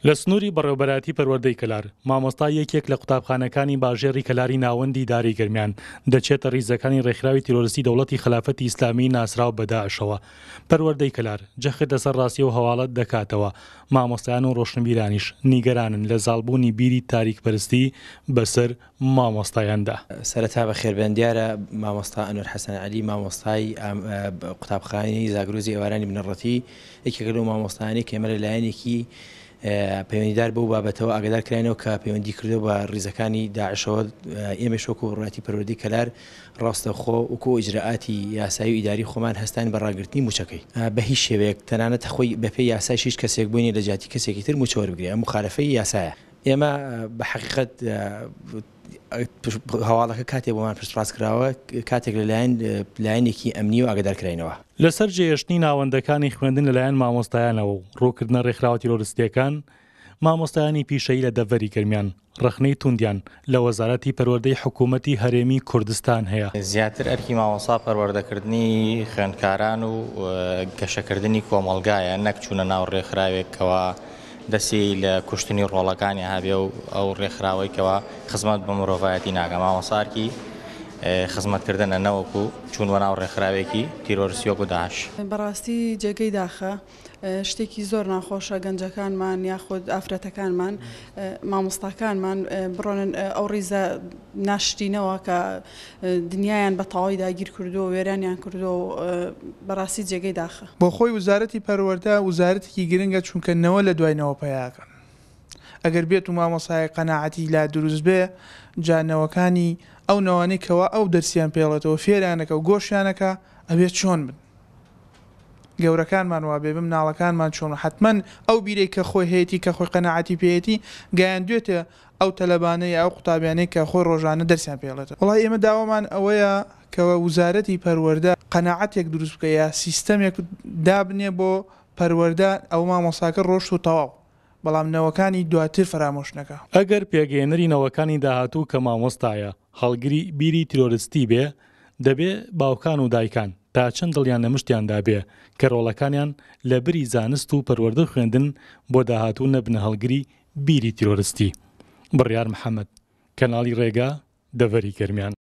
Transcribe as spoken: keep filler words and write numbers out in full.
لە سنووری بەڕێوەبەرایەتی پەروەردەی کەلار، مامۆستای یەکێک لە قوتابخانەکانی باژێڕی کەلاری ناوەندی ئیدارەی گەرمیان، دەچێتە ڕیزەکانی ڕێکخراوی تیرۆرستی دەوڵەتی خەلافەتی ئیسلامی ناسراو بە داعشەوە. پەروەردەی کەلار جەخت لەسەر ڕاستی ئەو هەواڵە دەکاتەوە، مامۆستایان و ڕۆشنبیرانیش نیگەرانن لە زاڵبوونی بیری تاریکپەرستی بەسەر مامۆستایاندا. سەرەتا بەخێربێن، دیارە مامۆستا ئەنوەر حەسەن عەلی مامۆستای قوتابخانەی زاگرۆزی ئێوارانی بنەڕەتی یەکێکە لەو مامۆستایانەی کە ئێمە لە لایەنێکی پەیوەندیدار بەو بابەتەوە ئاگادار کراینەوە کە پەیوەندی کردو بە ڕیزەکانی داعشەوە. ئێمەش وەکو ڕاتی پەروەردەی کەلار ڕاستەوخۆ وەکو ئیجرائاتی یاسایی و ئیداری خۆمان هەستاین بە ڕاگرتنی موچەکەی بە هیچ شێوەیەک، تەنانەت خۆی بەپێی یاسایش هیچ کەسێک بۆی نییە لە جیاتی کەسێکی تر موچە وەربگرێ، ئەم مخالفەی یاسایە. ئێمە بە حەقیقەت هەواڵەکە کاتێک بۆمان پشتڕاست کراوە کاتێک لەلایەن لایەنێکی ئەمنی و ئاگادار کراینەوە. لەسەر جێهێشتنی ناوەندەکانی خوێندن لەلایەن مامۆستایانەوە و ڕووکردنە ڕێکخراوە تیرۆریستییەکان، مامۆستایانی پیشەیی لە دەڤەری گەرمیان ڕەخنەی توندیان لە وەزارەتی پەروەردەی حکوومەتی هەرێمی کوردستان هەیە. زیاتر ئەرکی مامۆستا پەروەردەکردنی خوێندکاران و گەشەکردنی کۆمەڵگایە، نەک چوونە ناو ڕێکخراوێکەوە دەستی لە کوشتنی ڕۆڵەکانی هەبێ و ئەو ڕێکخراوەی کەوا خزمەت بە مرۆڤایەتی ناکە. مامۆستا ئەرکی خزمەتکردنە نەوەکو چوون بە ناو ڕێکخراوێکی تیرۆریستی وەکو داعش. بەڕاستی جێگەی داخە، شتێکی زۆر ناخۆشە گەنجەکانمان یاخود ئافرەتەکانمان مامۆستاکانمان بڕۆنن ئەو ڕیزە ناشرینەوە کە دنیایان بە تەواوی داگیر کردووە، وێرانیان کردووە، بەڕاستی جێگەی داخە. بۆ خۆی وزارەتی پەروەردە وزارەتێکی گرنگە، چونکە نەوە لە دوای نەوە پەیاکەن. ئەگەر بێت و مامۆستای قەناعەتی لا دروست بێ، جا نەوەکانی ئەو نەوانەی کەوا ئەو دەرسیان پێڵێتەوە فێرانەکە و گۆشیانەکە ئەبێت چۆن بن، گەورەکانمان وابێ بم، مناڵەکانمان چۆن، حتمما ئەو بیرەی کە خۆی هەیەی کە خۆی قەناعەتی پێیەتی گەیاندوێتە ئەو تەلەبانەی ئەو قوتابیانەی کە خۆی ڕۆژانە دەرسیان پێڵێتەوە. وڵای ئێمە داوامان ئەوەیە کە وزارەتی پەروەردە قەناعەتێک دروست بکە یا سیستەمێک دابنێ بۆ پەروەردە، ئەو مامۆساکە ڕۆشت و تەواو، بەڵام نەوەکانی دواتر فەرامۆش نەکا. ئەگەر پێگەیەنەری نەوەکانی داهاتوو کە مامۆستایە هەڵگری بیری تیرۆریستی بێ، دەبێ باوکان و دایکان تا چەند دڵیان لە مشتیاندا بێ کە ڕۆڵەکانیان لە بری زانست و پەروەردە خوێندن بۆ داهاتوو نەبنە هەڵگری بیری تیرۆریستی. بڕیار محەممەد، کەناڵی ڕێگا، دەڤەری گەرمیان.